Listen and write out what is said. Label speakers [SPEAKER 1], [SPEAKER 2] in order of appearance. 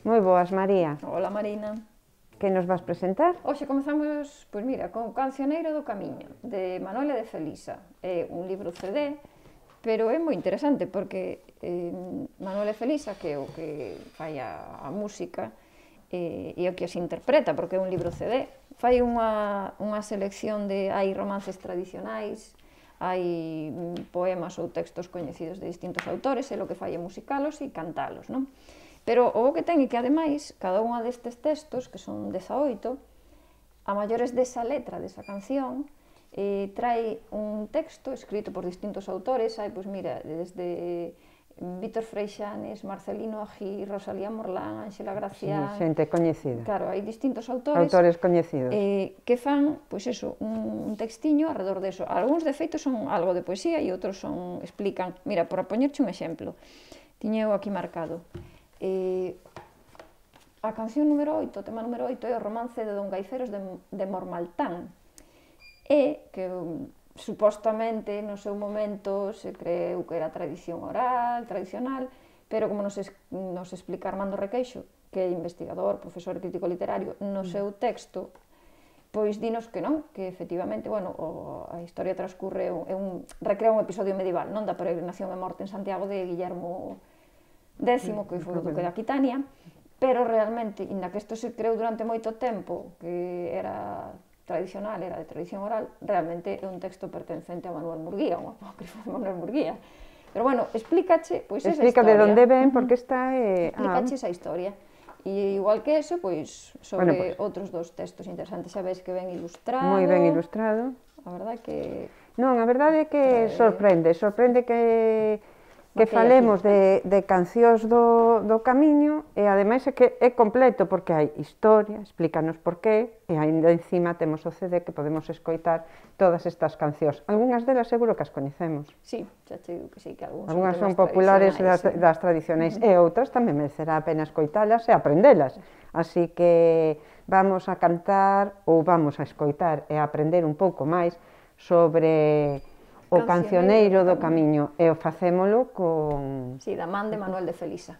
[SPEAKER 1] Moi boas, María.
[SPEAKER 2] Hola, Marina.
[SPEAKER 1] Que nos vas presentar?
[SPEAKER 2] Hoxe comezamos, pois mira, con Cancioneiro do Camiño, de Manuela de Felisa. É un libro CD, pero é moi interesante porque Manuela de Felisa, que é o que fai a música, e o que as interpreta, porque é un libro CD, fai unha selección de, hai romances tradicionais, hai poemas ou textos coñecidos de distintos autores, e o que fai é musicalos e cantalos, non? Pero o que ten é que, ademais, cada unha destes textos, que son 18, a maiores desa letra, desa canción, trae un texto escrito por distintos autores, hai, pois mira, desde Vítor Freixanes, Marcelino Agí, Rosalía Morlán, Ángela Gracián...
[SPEAKER 1] Sí, xente coñecida.
[SPEAKER 2] Claro, hai distintos autores...
[SPEAKER 1] Autores coñecidos.
[SPEAKER 2] Que fan, pois eso, un textiño alrededor deso. Algúns, de feito, son algo de poesía e outros son, explican... Mira, por poñerche un exemplo, tiña eu aquí marcado. A canción número 8, o tema número 8, é o romance de Don Gaiferos de Mormaltán, e que supostamente no seu momento se creeu que era tradición oral, tradicional, pero como nos explica Armando Requeixo, que é investigador, profesor e crítico literario, no seu texto, pois dinos que non, que efectivamente, bueno, a historia transcurre, recrea un episodio medieval, non da peregrinación e morte en Santiago de Guillermo X, que foi o duque de Aquitania, pero realmente, inda que isto se creou durante moito tempo, que era tradicional, era de tradición oral, realmente é un texto pertencente a Manuel Murguía, un apócrifo de Manuel Murguía. Pero bueno, explícache, pois, esa historia.
[SPEAKER 1] Explica de onde ven, porque esta é...
[SPEAKER 2] Explícache esa historia. E igual que eso, pois, sobre outros dos textos interesantes, xa ves que ven ilustrado.
[SPEAKER 1] Moi ben ilustrado.
[SPEAKER 2] A verdade que...
[SPEAKER 1] Non, a verdade é que sorprende que falemos de cancións do Camiño, e ademais é que é completo, porque hai historia, explícanos por qué, e ainda encima temos o CD que podemos escoitar todas estas cancións. Algúnas delas seguro que as coñecemos.
[SPEAKER 2] Sí, xa che digo que sí, que
[SPEAKER 1] algúnas son populares das tradicionais, e outras tamén merecerá a pena escoitalas e aprendelas. Así que vamos a cantar, ou vamos a escoitar e a aprender un pouco máis sobre o Cancioneiro do Camiño, e o facémolo con...
[SPEAKER 2] Sí, da man de Manuel de Felisa.